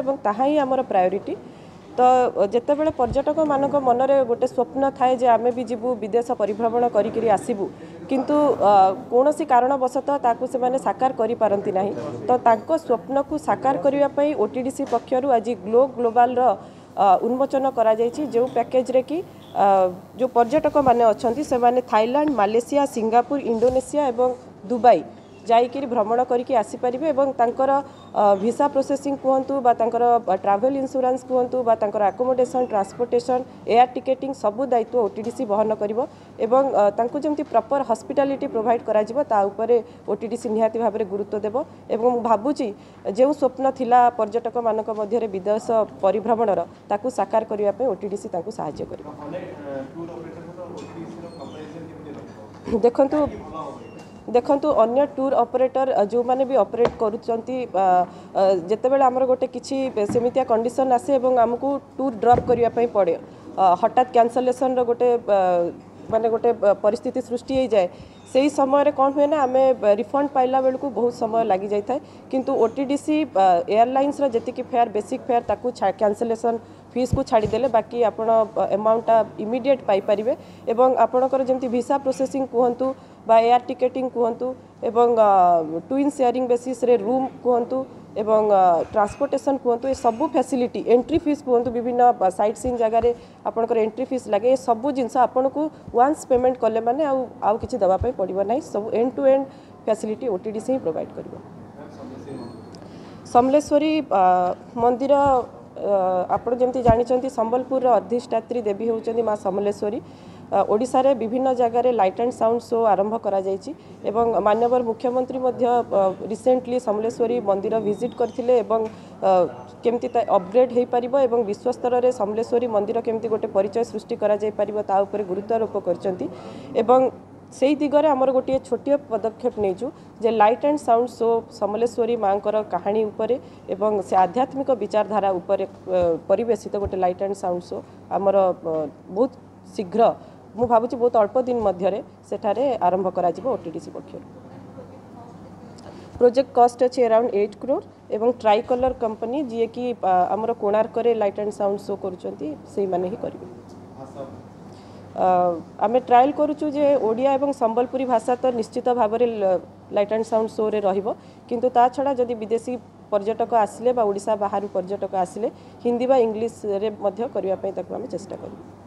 ଏବଂ ତାହା ହିଁ ଆମର ପ୍ରାୟୋରିଟି। ତ ଯେତେବେଳେ ପର୍ଯ୍ୟଟକମାନଙ୍କ ମନରେ ଗୋଟେ ସ୍ୱପ୍ନ ଥାଏ ଯେ ଆମେ ବି ଯିବୁ, ବିଦେଶ ପରିଭ୍ରମଣ କରିକିରି ଆସିବୁ, କିନ୍ତୁ କୌଣସି କାରଣବଶତଃ ତାକୁ ସେମାନେ ସାକାର କରିପାରନ୍ତି ନାହିଁ, ତ ତାଙ୍କ ସ୍ୱପ୍ନକୁ ସାକାର କରିବା ପାଇଁ ଓଟିଡିସି ପକ୍ଷରୁ ଆଜି ଗ୍ଲୋ ଗ୍ଲୋବାଲର ଉନ୍ମୋଚନ କରାଯାଇଛି, ଯେଉଁ ପ୍ୟାକେଜରେ କି ଯେଉଁ ପର୍ଯ୍ୟଟକମାନେ ଅଛନ୍ତି ସେମାନେ ଥାଇଲାଣ୍ଡ, ମାଲେସିଆ, ସିଙ୍ଗାପୁର, ଇଣ୍ଡୋନେସିଆ ଏବଂ ଦୁବାଇ ଯାଇକିରି ଭ୍ରମଣ କରିକି ଆସିପାରିବେ। ଏବଂ ତାଙ୍କର ଭିସା ପ୍ରୋସେସିଂ କୁହନ୍ତୁ ବା ତାଙ୍କର ଟ୍ରାଭେଲ୍ ଇନ୍ସୁରାନ୍ସ କୁହନ୍ତୁ ବା ତାଙ୍କର ଆକୋମୋଡେସନ୍, ଟ୍ରାନ୍ସପୋର୍ଟେସନ୍, ଏୟାର ଟିକେଟିଂ ସବୁ ଦାୟିତ୍ୱ ଓଟିଡିସି ବହନ କରିବ ଏବଂ ତାଙ୍କୁ ଯେମିତି ପ୍ରପର୍ ହସ୍ପିଟାଲିଟି ପ୍ରୋଭାଇଡ଼ କରାଯିବ ତା ଉପରେ ଓଟିଡିସି ନିହାତି ଭାବରେ ଗୁରୁତ୍ୱ ଦେବ। ଏବଂ ମୁଁ ଭାବୁଛି ଯେଉଁ ସ୍ୱପ୍ନ ଥିଲା ପର୍ଯ୍ୟଟକମାନଙ୍କ ମଧ୍ୟରେ ବିଦେଶ ପରିଭ୍ରମଣର, ତାକୁ ସାକାର କରିବା ପାଇଁ ଓଟିଡିସି ତାଙ୍କୁ ସାହାଯ୍ୟ କରିବ। ଦେଖନ୍ତୁ, ଅନ୍ୟ ଟୁର୍ ଅପରେଟର ଯେଉଁମାନେ ବି ଅପରେଟ୍ କରୁଛନ୍ତି, ଯେତେବେଳେ ଆମର ଗୋଟେ କିଛି ସେମିତିଆ କଣ୍ଡିସନ୍ ଆସେ ଏବଂ ଆମକୁ ଟୁର୍ ଡ୍ରପ୍ କରିବା ପାଇଁ ପଡ଼େ, ହଠାତ୍ କ୍ୟାନସଲେସନ୍ର ଗୋଟେ ମାନେ ଗୋଟେ ପରିସ୍ଥିତି ସୃଷ୍ଟି ହେଇଯାଏ, ସେଇ ସମୟରେ କ'ଣ ହୁଏ ନା ଆମେ ରିଫଣ୍ଡ ପାଇଲା ବେଳକୁ ବହୁତ ସମୟ ଲାଗିଯାଇଥାଏ। କିନ୍ତୁ ଓ ଟି ଡି ସି ଏୟାରଲାଇନ୍ସର ଯେତିକି ଫେୟାର, ବେସିକ୍ ଫେୟାର, ତାକୁ କ୍ୟାନସଲେସନ୍ ଫିସ୍କୁ ଛାଡ଼ିଦେଲେ ବାକି ଆପଣ ଆମାଉଣ୍ଟଟା ଇମିଡ଼ିଏଟ୍ ପାଇପାରିବେ। ଏବଂ ଆପଣଙ୍କର ଯେମିତି ଭିସା ପ୍ରୋସେସିଂ କୁହନ୍ତୁ ବା ଏୟାର ଟିକେଟିଂ କୁହନ୍ତୁ ଏବଂ ଟୁଇନ୍ ସେୟାରିଂ ବେସିସ୍ରେ ରୁମ୍ କୁହନ୍ତୁ ଏବଂ ଟ୍ରାନ୍ସପୋର୍ଟେସନ୍ କୁହନ୍ତୁ, ଏ ସବୁ ଫ୍ୟାସିଲିଟି, ଏଣ୍ଟ୍ରି ଫିସ୍ କୁହନ୍ତୁ, ବିଭିନ୍ନ ସାଇଟ୍ ସିନ୍ ଜାଗାରେ ଆପଣଙ୍କର ଏଣ୍ଟ୍ରି ଫିସ୍ ଲାଗେ, ଏ ସବୁ ଜିନିଷ ଆପଣଙ୍କୁ ୱାନ୍ସ ପେମେଣ୍ଟ କଲେ ମାନେ ଆଉ କିଛି ଦେବା ପାଇଁ ପଡ଼ିବ ନାହିଁ। ସବୁ end to end facility O T D C ହିଁ ପ୍ରୋଭାଇଡ଼ କରିବ। ସମଲେଶ୍ୱରୀ ମନ୍ଦିର, ଆପଣ ଯେମିତି ଜାଣିଛନ୍ତି, ସମ୍ବଲପୁରର ଅଧିଷ୍ଠାତ୍ରୀ ଦେବୀ ହେଉଛନ୍ତି ମା ସମଲେଶ୍ୱରୀ। ଓଡ଼ିଶାରେ ବିଭିନ୍ନ ଜାଗାରେ ଲାଇଟ୍ ଆଣ୍ଡ ସାଉଣ୍ଡ ଶୋ ଆରମ୍ଭ କରାଯାଇଛି ଏବଂ ମାନ୍ୟବର ମୁଖ୍ୟମନ୍ତ୍ରୀ ମଧ୍ୟ ରିସେଣ୍ଟଲି ସମଲେଶ୍ୱରୀ ମନ୍ଦିର ଭିଜିଟ୍ କରିଥିଲେ ଏବଂ କେମିତି ତା ଅପଗ୍ରେଡ୍ ହୋଇପାରିବ ଏବଂ ବିଶ୍ୱସ୍ତରରେ ସମଲେଶ୍ୱରୀ ମନ୍ଦିର କେମିତି ଗୋଟେ ପରିଚୟ ସୃଷ୍ଟି କରାଯାଇପାରିବ ତା ଉପରେ ଗୁରୁତ୍ୱାରୋପ କରିଛନ୍ତି। ଏବଂ ସେଇ ଦିଗରେ ଆମର ଗୋଟିଏ ଛୋଟିଆ ପଦକ୍ଷେପ ନେଇଛୁ ଯେ light and sound show Samaleswari ମାଆଙ୍କର କାହାଣୀ ଉପରେ ଏବଂ ସେ ଆଧ୍ୟାତ୍ମିକ ବିଚାରଧାରା ଉପରେ ପରିବେଶିତ ଗୋଟେ ଲାଇଟ୍ ଆଣ୍ଡ ସାଉଣ୍ଡ ଶୋ ଆମର ବହୁତ ଶୀଘ୍ର, ମୁଁ ଭାବୁଛି ବହୁତ ଅଳ୍ପ ଦିନ ମଧ୍ୟରେ ସେଠାରେ ଆରମ୍ଭ କରାଯିବ ଓଟିଡିସି ପକ୍ଷରୁ। ପ୍ରୋଜେକ୍ଟ କଷ୍ଟ ଅଛି ଆରାଉଣ୍ଡ 8 କ୍ରୋର୍ ଏବଂ ଟ୍ରାଇ କଲର୍ କମ୍ପାନୀ, ଯିଏକି ଆମର କୋଣାର୍କରେ ଲାଇଟ୍ ଆଣ୍ଡ ସାଉଣ୍ଡ ଶୋ କରୁଛନ୍ତି, ସେଇମାନେ ହିଁ କରିବେ। ଆମେ ଟ୍ରାଏଲ୍ କରୁଛୁ ଯେ ଓଡ଼ିଆ ଏବଂ ସମ୍ବଲପୁରୀ ଭାଷା ତ ନିଶ୍ଚିତ ଭାବରେ ଲାଇଟ୍ ଆଣ୍ଡ ସାଉଣ୍ଡ ଶୋରେ ରହିବ, କିନ୍ତୁ ତା ଛଡ଼ା ଯଦି ବିଦେଶୀ ପର୍ଯ୍ୟଟକ ଆସିଲେ ବା ଓଡ଼ିଶା ବାହାରୁ ପର୍ଯ୍ୟଟକ ଆସିଲେ ହିନ୍ଦୀ ବା ଇଂଲିଶରେ ମଧ୍ୟ କରିବା ପାଇଁ ତାକୁ ଆମେ ଚେଷ୍ଟା କରିବୁ।